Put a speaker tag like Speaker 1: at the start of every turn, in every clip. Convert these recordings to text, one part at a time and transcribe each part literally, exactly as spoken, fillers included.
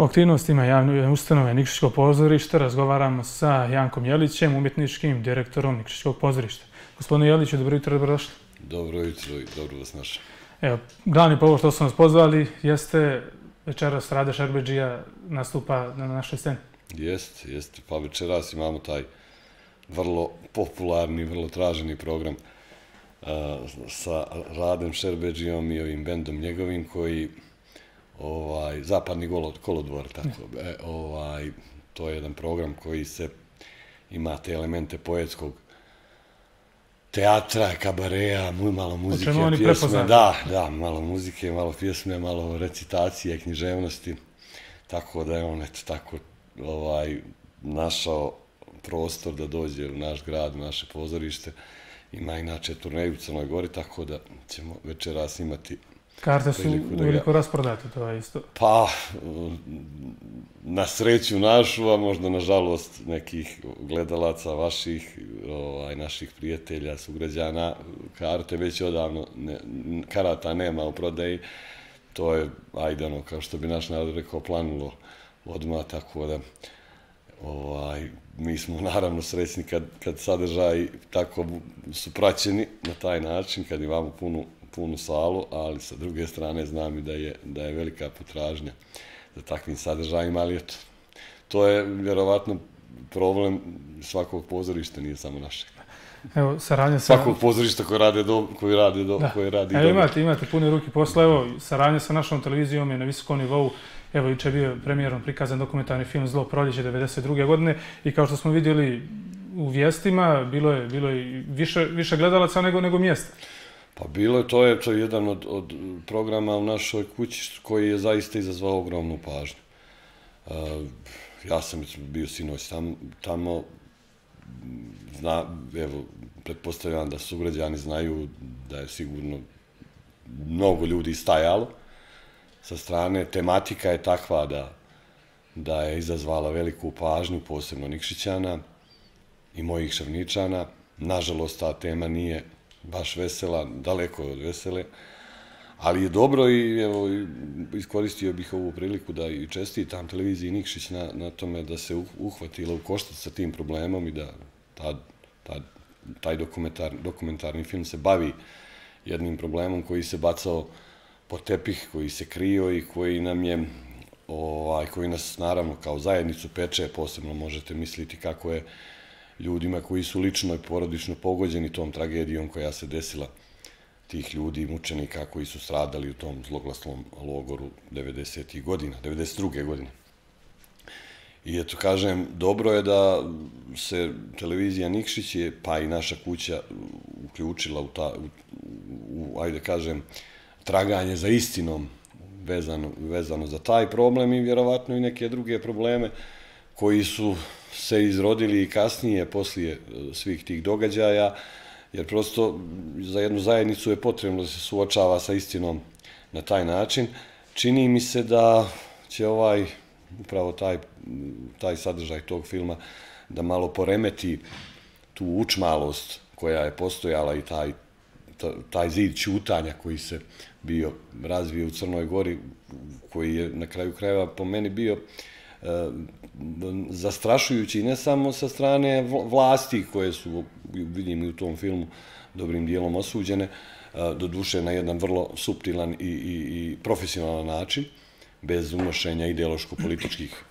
Speaker 1: O aktivnostima javne ustanove Nikšićkog pozorišta razgovaramo sa Jankom Jelićem, umjetničkim direktorom Nikšićkog pozorišta. Gospodine Jeliću, dobro jutro, dobrodošli.
Speaker 2: Dobro jutro i dobro vas našao.
Speaker 1: Evo, glavni povod što smo nas pozvali jeste večeras Rade Šerbedžija nastupa na našoj sceni.
Speaker 2: Jeste, jeste. Pa večeras imamo taj vrlo popularni, vrlo traženi program sa Radem Šerbedžijom i ovim bendom njegovim koji Zapadni kolodvor, tako. To je jedan program koji se ima te elemente poetskog teatra, kabareja, malo muzike, pjesme. Da, da, malo muzike, malo pjesme, malo recitacije, književnosti. Tako da je on, eto, tako našao prostor da dođe u naš grad, u naše pozorište. Ima inače turneju u Crnoj Gori, tako da ćemo večeras imati...
Speaker 1: Karte su uveliko rasprodate, to je isto.
Speaker 2: Pa, na sreću našu, a možda na žalost nekih gledalaca vaših, naših prijatelja, sugrađana, karte već odavno, karata nema u prodaji. To je, ajde ono, kao što bi naš narod rekao, planulo odmah, tako da mi smo naravno srećni kad sadržaji tako su praćeni na taj način, kad imamo punu punu salu, ali sa druge strane znam i da je velika potražnja za takvim sadržajima, ali eto, to je vjerovatno problem svakog pozorišta, nije samo našeg.
Speaker 1: Evo, saradnja sa...
Speaker 2: Svakog pozorišta koji radi dobro.
Speaker 1: Evo, imate pune ruke posla, evo, saradnja sa našom televizijom je na visokom nivou. Evo, juče je bio premijerom prikazan dokumentarni film Zlo proljeće devedeset druge godine i kao što smo vidjeli u vijestima, bilo je više gledalaca nego mjesta.
Speaker 2: Pa bilo je, to je jedan od programa u našoj kući koji je zaista izazvao ogromnu pažnju. Ja sam bio sinoć tamo, evo, pretpostavljam da sugrađani znaju da je sigurno mnogo ljudi stajalo sa strane. Tematika je takva da je izazvala veliku pažnju, posebno Nikšićana i mojih Ševničana. Nažalost, ta tema nije baš vesela, daleko od vesele, ali je dobro i iskoristio bih ovu priliku da i čestitam televiziji Nikšić na tome da se uhvatila u koštac sa tim problemom i da taj dokumentarni film se bavi jednim problemom koji se bacao pod tepih, koji se krio i koji nam je, koji nas naravno kao zajednicu peče, posebno možete misliti kako je ljudima koji su lično i porodično pogođeni tom tragedijom koja se desila, tih ljudi i mučenika koji su stradali u tom zloglasnom logoru devedesetih godina, devedeset druge godine. I eto, kažem, dobro je da se televizija Nikšić, pa i naša kuća, uključila u, ajde kažem, traganje za istinom vezano za taj problem i vjerovatno i neke druge probleme koji su se izrodili i kasnije, poslije svih tih događaja, jer prosto za jednu zajednicu je potrebno da se suočava sa istinom na taj način. Čini mi se da će ovaj, upravo taj sadržaj tog filma, da malo poremeti tu učmalost koja je postojala i taj zid ćutanja koji se bio razvio u Crnoj Gori, koji je na kraju krajeva po meni bio zastrašujući ne samo sa strane vlasti koje su, vidim i u tom filmu, dobrim dijelom osuđene, doduše na jedan vrlo suptilan i profesionalan način, bez unošenja ideološko-političkih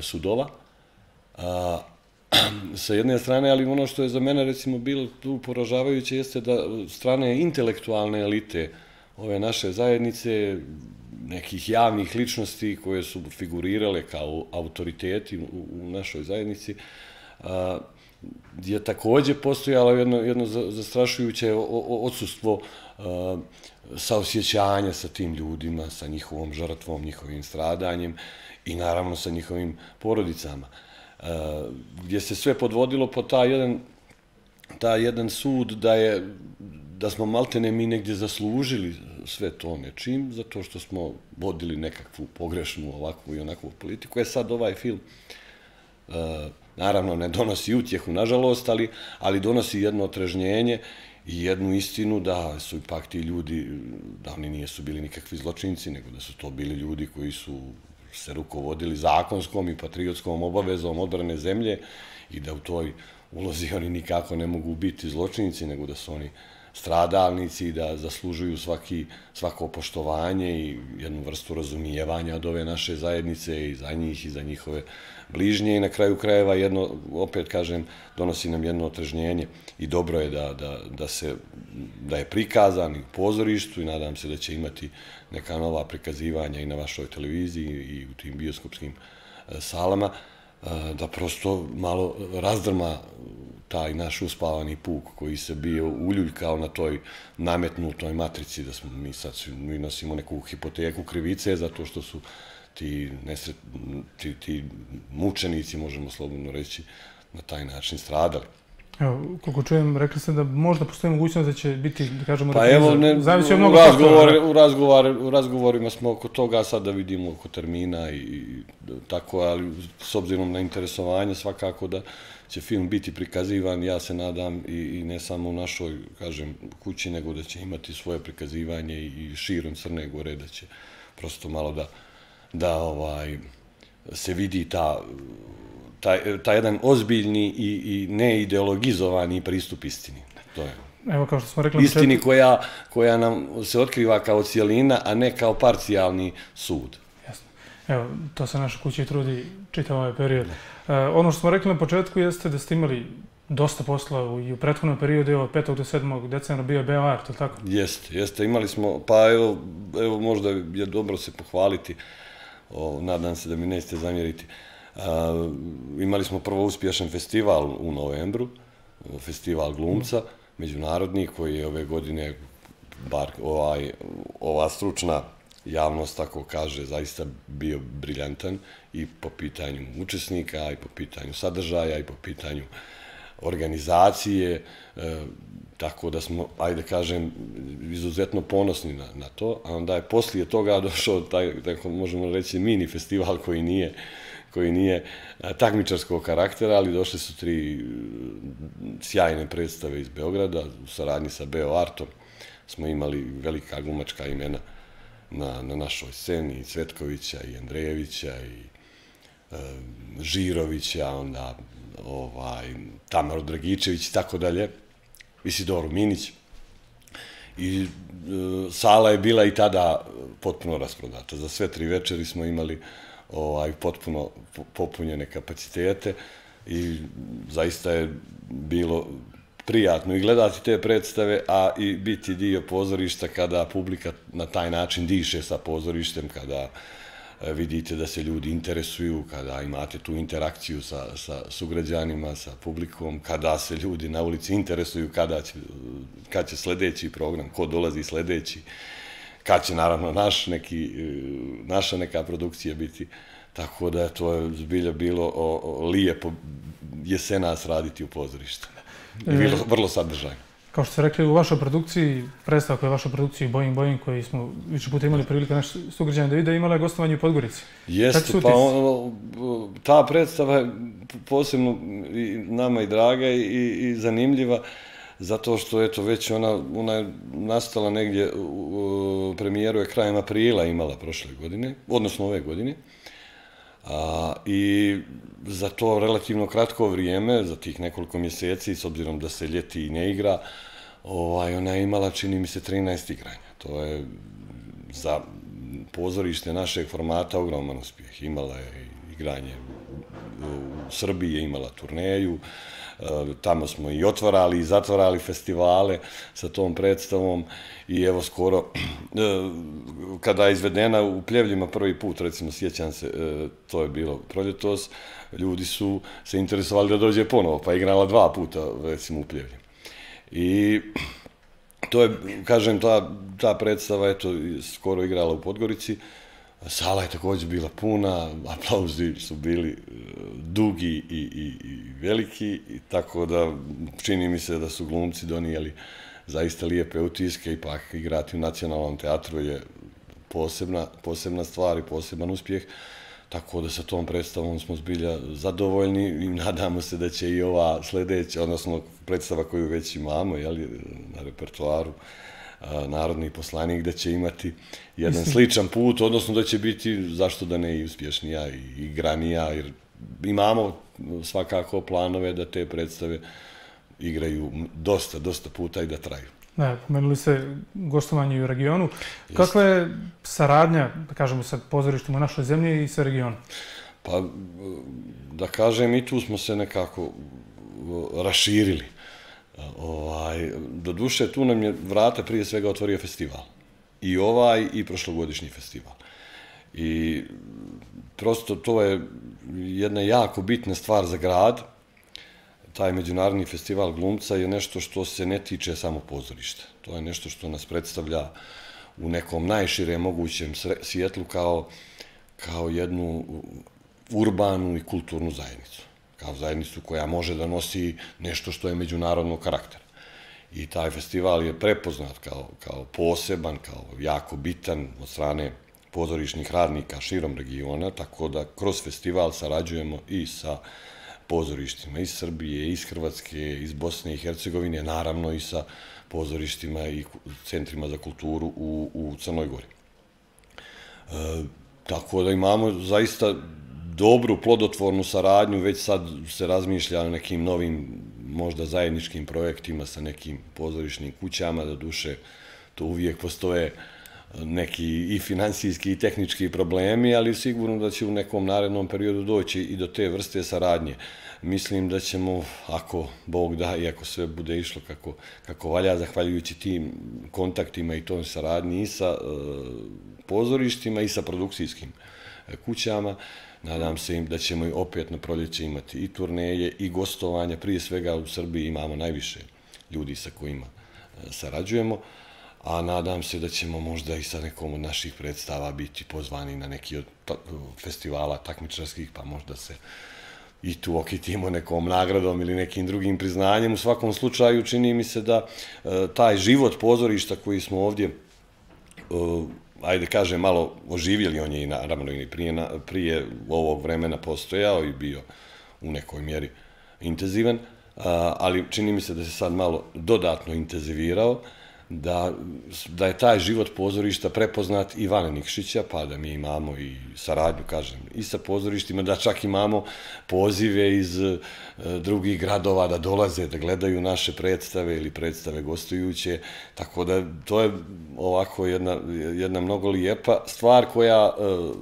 Speaker 2: sudova. Sa jedne strane, ali ono što je za mene recimo bilo tu poražavajuće jeste da strane intelektualne elite ove naše zajednice, nekih javnih ličnosti koje su figurirale kao autoriteti u našoj zajednici, je također postojalo jedno zastrašujuće odsustvo saosjećanja sa tim ljudima, sa njihovom žrtvom, njihovim stradanjem i naravno sa njihovim porodicama, gdje se sve podvodilo po taj jedan sud da je da smo maltene mi negdje zaslužili sve to nečim, zato što smo vodili nekakvu pogrešnu ovakvu i onakvu politiku. Je sad ovaj film, naravno ne donosi utjehu, nažalost, ali donosi jedno otrežnjenje i jednu istinu da su ipak ti ljudi, da oni nisu bili nikakvi zločinci, nego da su to bili ljudi koji su se rukovodili zakonskom i patriotskom obavezom odbrane zemlje i da u toj ulozi oni nikako ne mogu biti zločinici, nego da su oni stradalnici i da zaslužuju svaki, svako poštovanje i jednu vrstu razumijevanja od ove naše zajednice i za njih i za njihove bližnje i na kraju krajeva jedno, opet kažem, donosi nam jedno otrežnjenje i dobro je da, da, da, se, da je prikazan i u pozorištu i nadam se da će imati neka nova prikazivanja i na vašoj televiziji i u tim bioskopskim salama, da prosto malo razdrma taj naš uspavani puk koji se bio uljuljkao na toj nametnutoj matrici, da smo mi sad mi nosimo neku hipoteku krivice zato što su ti, nesret, ti, ti mučenici, možemo slobodno reći, na taj način stradali.
Speaker 1: Evo, koliko čujem, rekli ste da možda postoji mogućnost da će biti, da kažemo,
Speaker 2: pa evo, ne,
Speaker 1: zavisi od
Speaker 2: u,
Speaker 1: mnogo
Speaker 2: razgovor, u, razgovor, u razgovorima smo oko toga, sad da vidimo oko termina i, i tako, ali s obzirom na interesovanje svakako da će film biti prikazivan, ja se nadam i, i ne samo u našoj, kažem, kući, nego da će imati svoje prikazivanje i, i širom Crne Gore, da će prosto malo da, da ovaj, se vidi ta taj, taj jedan ozbiljni i, i neideologizovani pristup istini. To je.
Speaker 1: Evo, kao što smo rekli,
Speaker 2: istini koja, koja nam se otkriva kao cijelina, a ne kao parcijalni sud.
Speaker 1: Jasno. Evo, to se naša kuća i trudi čitav ovaj period. Uh, ono što smo rekli na početku jeste da ste imali dosta posla i u prethodnom periodu, evo, od petog do sedmog decembra bio Beoart, je li tako?
Speaker 2: Jeste, jeste. Imali smo, pa evo, evo možda je dobro se pohvaliti, o, nadam se da mi nećete zamjeriti. Uh, imali smo prvo uspješan festival u novembru, festival glumca, međunarodni, koji je ove godine, bar ovaj, ova stručna javnost tako kaže, zaista bio briljantan i po pitanju učesnika, i po pitanju sadržaja, i po pitanju organizacije, e, tako da smo, ajde kažem, izuzetno ponosni na, na to, a onda je poslije toga došao taj, tako možemo reći, mini festival koji nije koji nije takmičarskog karaktera, ali došle su tri sjajne predstave iz Beograda, u saradnji sa Beoartom smo imali velika glumačka imena na, na našoj sceni, i Cvetkovića, i Andrejevića, i e, Žirovića, onda ovaj, Tamaru Dragičević i tako dalje, Isidoru Minić. I e, sala je bila i tada potpuno rasprodata. Za sve tri večeri smo imali ovaj, potpuno popunjene kapacitete i zaista je bilo prijatno i gledati te predstave, a i biti dio pozorišta kada publika na taj način diše sa pozorištem, kada vidite da se ljudi interesuju, kada imate tu interakciju sa, sa sugrađanima, sa publikom, kada se ljudi na ulici interesuju kada će, kad će sledeći program, ko dolazi sledeći, kad će naravno naš neki, naša neka produkcija biti. Tako da je to zbilja bilo o, o, lijepo jesenas raditi u pozorištu. I bilo vrlo sadržajno.
Speaker 1: Kao što ste rekli, u vašoj produkciji, predstava koja je u vašoj produkciji Boing Boing, koji smo više puta imali prilike naši sugrađani da vide, imala je gostovanje u Podgorici.
Speaker 2: Jeste, pa ono, ta predstava je posebno i nama i draga i, i zanimljiva, zato što eto već ona, ona je nastala negdje, u premijeru je krajem aprila imala prošle godine, odnosno ove godine. A, i za to relativno kratko vrijeme, za tih nekoliko mjeseci, s obzirom da se ljeti i ne igra, ovaj, ona je imala, čini mi se, trinaest igranja. To je za pozorište našeg formata ogroman uspjeh. Imala je igranje u Srbiji, je imala turneju, tamo smo i otvarali i zatvarali festivale sa tom predstavom i evo skoro, kada je izvedena u Pljevljima prvi put, recimo sjećam se, to je bilo proljetos, ljudi su se interesovali da dođe ponovo, pa je igrala dva puta recimo u Pljevljima. I to je, kažem, ta, ta predstava eto, skoro igrala u Podgorici. Sala je također bila puna, aplauzi su bili dugi i, i, i veliki, i tako da čini mi se da su glumci donijeli zaista lijepe utiske, ipak igrati u Nacionalnom teatru je posebna, posebna stvar i poseban uspjeh, tako da sa tom predstavom smo zbilja zadovoljni i nadamo se da će i ova sljedeća, odnosno predstava koju već imamo jeli, na repertoaru, narodni poslanik, da će imati jedan sličan put, odnosno da će biti, zašto da ne, i uspješnija i igranija, jer imamo svakako planove da te predstave igraju dosta, dosta puta i da traju.
Speaker 1: Da, pomenuli ste gostovanje u regionu. Kakva je saradnja, da kažemo, sa pozorištima u našoj zemlji i sa regionom?
Speaker 2: Pa, da kažem, i tu smo se nekako raširili. Doduše, tu nam je vrata prije svega otvorio festival. I ovaj i prošlogodišnji festival. I prosto to je jedna jako bitna stvar za grad. Taj međunarodni festival glumca je nešto što se ne tiče samo pozorišta. To je nešto što nas predstavlja u nekom najširem mogućem svijetlu kao jednu urbanu i kulturnu zajednicu. Kao zajednicu koja može da nosi nešto što je međunarodnog karaktera. I taj festival je prepoznat kao poseban, kao jako bitan od strane pozorišnih radnika širom regiona, tako da kroz festival sarađujemo i sa pozorištima iz Srbije, iz Hrvatske, iz Bosne i Hercegovine, naravno i sa pozorištima i centrima za kulturu u Crnoj Gori. Tako da imamo zaista dobru, plodotvornu saradnju, već sad se razmišlja o nekim novim, možda zajedničkim projektima sa nekim pozorišnim kućama, da duše to uvijek postoje neki i finansijski i tehnički problemi, ali sigurno da će u nekom narednom periodu doći i do te vrste saradnje. Mislim da ćemo, ako Bog da i ako sve bude išlo kako valja, zahvaljujući tim kontaktima i tom saradnji i sa pozorištima i sa produkcijskim kućama, nadam se im da ćemo i opet na proljeće imati i turneje i gostovanja. Prije svega u Srbiji imamo najviše ljudi sa kojima sarađujemo, a nadam se da ćemo možda i sa nekom od naših predstava biti pozvani na neki od festivala takmičarskih, pa možda se i tu okitimo nekom nagradom ili nekim drugim priznanjem. U svakom slučaju čini mi se da taj život pozorišta koji smo ovdje, ajde kažem, malo oživjeli, on je i naravno i prije ovog vremena postojao i bio u nekoj mjeri intenzivan, ali čini mi se da se sad malo dodatno intenzivirao, da je taj život pozorišta prepoznat i van Nikšića, pa da mi imamo i saradnju, kažem, i sa pozorištima, da čak imamo pozive iz drugih gradova da dolaze, da gledaju naše predstave ili predstave gostujuće, tako da to je ovako jedna mnogo lijepa stvar koja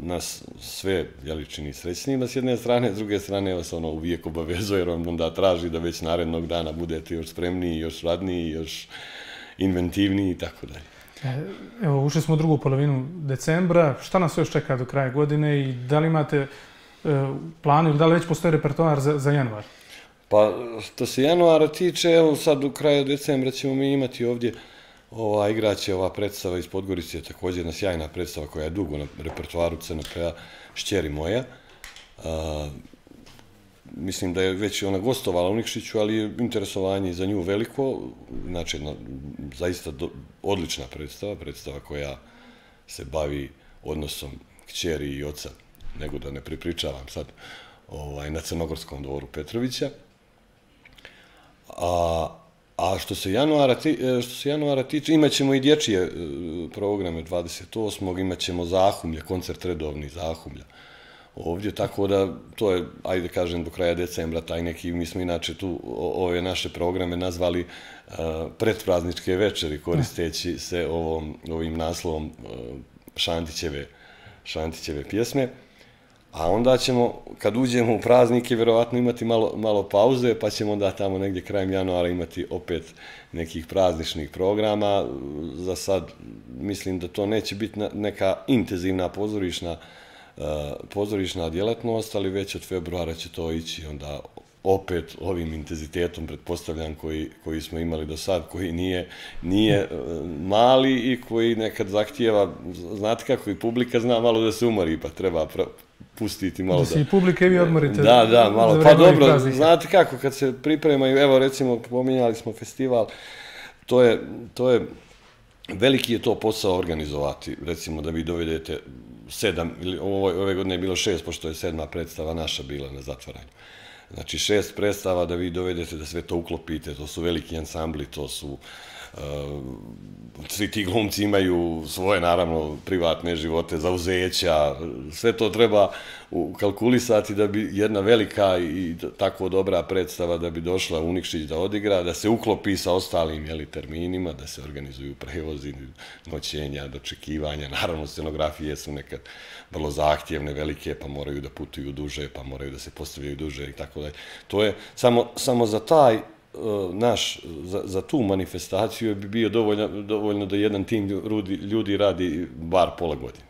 Speaker 2: nas sve čini srećnijima s jedne strane, s druge strane vas ono uvijek obavezuje, jer vam onda traži da već narednog dana budete još spremniji, još radniji, još inventivniji i tako dalje.
Speaker 1: Evo, ušli smo u drugu polovinu decembra. Šta nas još čeka do kraja godine i da li imate planu ili da li već postoji repertoar za januar?
Speaker 2: Pa, što se januara tiče, evo sad u kraju decembra ćemo mi imati ovdje igraće ova predstava iz Podgorice, također jedna sjajna predstava koja je dugo na repertoaru C N P-a, Šćeri moja. Mislim da je već ona gostovala u Nikšiću, ali je interesovanje za nju veliko. Znači, jedna zaista odlična predstava, predstava koja se bavi odnosom kćeri i oca, nego da ne pripričavam sad, na Crnogorskom dvoru Petrovića. A što se januara tiče, imat ćemo i dječje programe dvadeset osmog imat ćemo Zahumlja, koncert redovni Zahumlja ovdje, tako da to je, ajde kažem, do kraja decembra taj neki, mi smo inače tu ove naše programe nazvali predprazničke večeri, koristeći se ovim naslovom Šantićeve pjesme. A onda ćemo, kad uđemo u praznike, vjerovatno imati malo pauze, pa ćemo onda tamo negdje krajem januara imati opet nekih prazničnih programa. Za sad mislim da to neće biti neka intenzivna pozorišna pozorišna djelatnost, ali već od februara će to ići onda opet ovim intenzitetom, pretpostavljam, koji smo imali do sad, koji nije mali i koji nekad zahtijeva, znate kako i publika zna malo da se umori, pa treba pustiti malo da...
Speaker 1: Da se i publika i vi odmorite.
Speaker 2: Da, da, malo. Pa dobro, znate kako, kad se pripremaju, evo recimo, pominjali smo festival, to je, veliki je to posao organizovati, recimo da vi dovedete sedam, ili ove godine je bilo šest, pošto je sedma predstava naša bila na zatvaranju. Znači šest predstava da vi dovedete da sve to uklopite, to su veliki ansambli, to su svi ti glumci imaju svoje, naravno, privatne živote, zauzeća, sve to treba kalkulisati da bi jedna velika i tako dobra predstava da bi došla u Nikšić da odigra, da se uklopi sa ostalim terminima, da se organizuju prevozi, noćenja, dočekivanja, naravno scenografije su nekad vrlo zahtjevne, velike, pa moraju da putuju duže, pa moraju da se postavljaju duže i tako dalje. To je samo za taj naš, za tu manifestaciju bi bio dovoljno da jedan tim ljudi radi bar pola godine.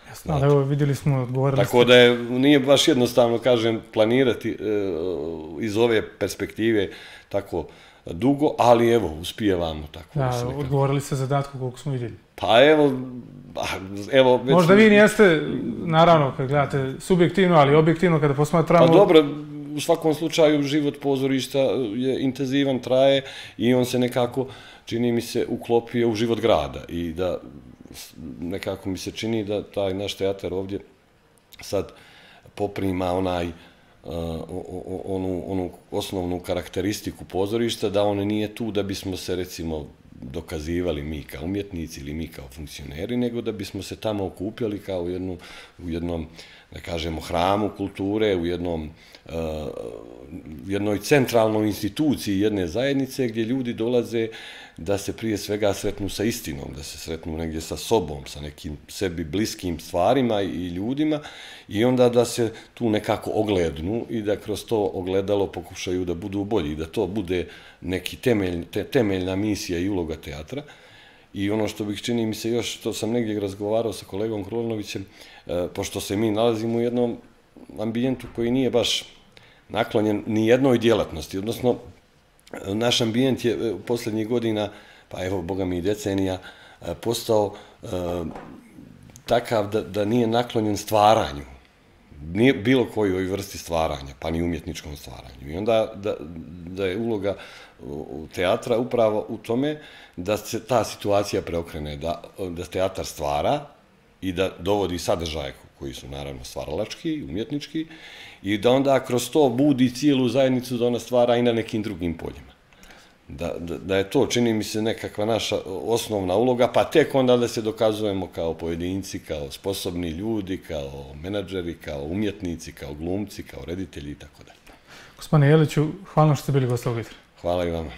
Speaker 1: Jasno, ali evo vidjeli smo, odgovorili ste.
Speaker 2: Tako da nije baš jednostavno, kažem, planirati iz ove perspektive tako dugo, ali evo, uspijevamo tako.
Speaker 1: Da, odgovorili ste zadatku koliko smo vidjeli.
Speaker 2: Pa evo, evo...
Speaker 1: Možda vi nijeste, naravno, kad gledate subjektivno, ali objektivno kada posmatramo...
Speaker 2: Pa dobro, u svakom slučaju život pozorišta je intenzivan, traje i on se nekako, čini mi se, uklopio u život grada i da nekako mi se čini da taj naš teatar ovdje sad poprima onaj onu osnovnu karakteristiku pozorišta, da on nije tu da bismo se, recimo, dokazivali mi kao umjetnici ili mi kao funkcioneri, nego da bismo se tamo okupljali kao u jednom, da kažemo, hramu kulture, u jednom jednoj centralnoj instituciji jedne zajednice gdje ljudi dolaze da se prije svega sretnu sa istinom, da se sretnu negdje sa sobom, sa nekim sebi bliskim stvarima i ljudima i onda da se tu nekako oglednu i da kroz to ogledalo pokušaju da budu bolji, da to bude neki temeljna misija i uloga teatra. I ono što bih, čini mi se još, što sam negdje razgovarao sa kolegom Krunovićem, pošto se mi nalazimo u jednom ambijentu koji nije baš naklonjen ni jednoj djelatnosti, odnosno naš ambijent je posljednjih godina, pa evo, boga mi i decenija, postao takav da nije naklonjen stvaranju, bilo kojoj vrsti stvaranja, pa ni umjetničkom stvaranju. I onda da je uloga teatra upravo u tome da se ta situacija preokrene, da teatar stvara i da dovodi sadržaje koji su naravno stvaralački, umjetnički, i da onda kroz to budi cijelu zajednicu da ona stvara i na nekim drugim poljima. Da je to, čini mi se, nekakva naša osnovna uloga, pa tek onda da se dokazujemo kao pojedinci, kao sposobni ljudi, kao menadžeri, kao umjetnici, kao glumci, kao reditelji i tako dalje.
Speaker 1: Gospodine Jeliću, hvala što ste bili gost ovog jutra.
Speaker 2: Hvala i vama.